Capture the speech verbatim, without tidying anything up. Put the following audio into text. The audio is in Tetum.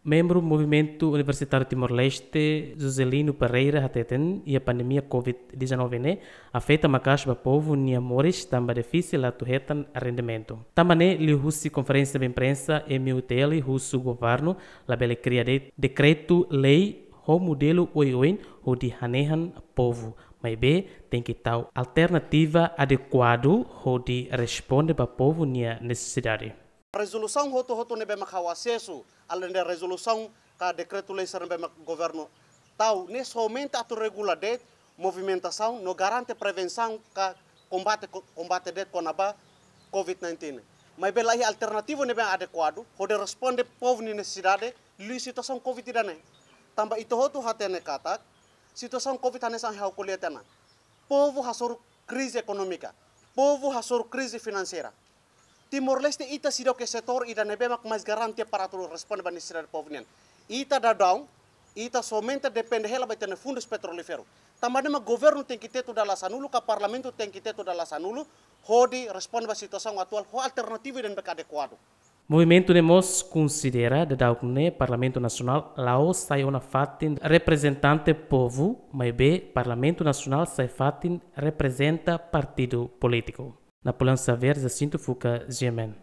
Membru Movimentu Universitáriu Timor-Leste, Juscelino Pereira, hateten iha pandemia covid dezanove ne'e afeta maka'as ba povu nia moris tanba difisil atu hetan rendimentu. Tanba ne'e liuhusi konferénsia imprensa M U T L husu governu labele kria de'it dekretu-lei ho modelu oioin hodi hanehan povu, maibé tenke tau alternativa adekuadu hodi responde ba povu nia nesesidade. Rezolusaun hotu-hotu ne'ebé mak ha'u asesu, alende rezolusaun ka dekretu-lei sira ne'ebé mak governu tau, ne'e somente atu regula de'it movimentasaun no garante prevensaun ka kombate, kombate de'it kona-ba covid nineteen. Maibé laiha alternativa ne'ebé adekuadu hodi responde povu nia nesesidade liu situasaun covid ida-ne'e. Tanba ita hotu hatene katak situasaun covid hanesan ha'u ko'alia tiha ona. Povu hasoru krize ekonómika, povu hasoru krize finanseira. Timor-Leste ita seidauk iha setór ida ne'ebé mak mais garante para atu responde ba nesesidade povu nian. Ita daudaun, ita somente depende hela ba ita-nia fundus petrolíferu. Tanba ne'e mak governu tenke tetu dala sanulu, ka parlamentu tenke tetu dala sanulu, hodi responde ba situasaun atuál ho alternativa ida ne'ebé adekuadu. Movimentu ne'e mós konsidera daudaun ne'e Parlamentu Nasionál la'ós sai ona fatin reprezentante povu, maibé Parlamentu Nasionál sai fatin reprezenta partidu polítiku. Napoleão Xavier, Jacinto Fuca, G M N.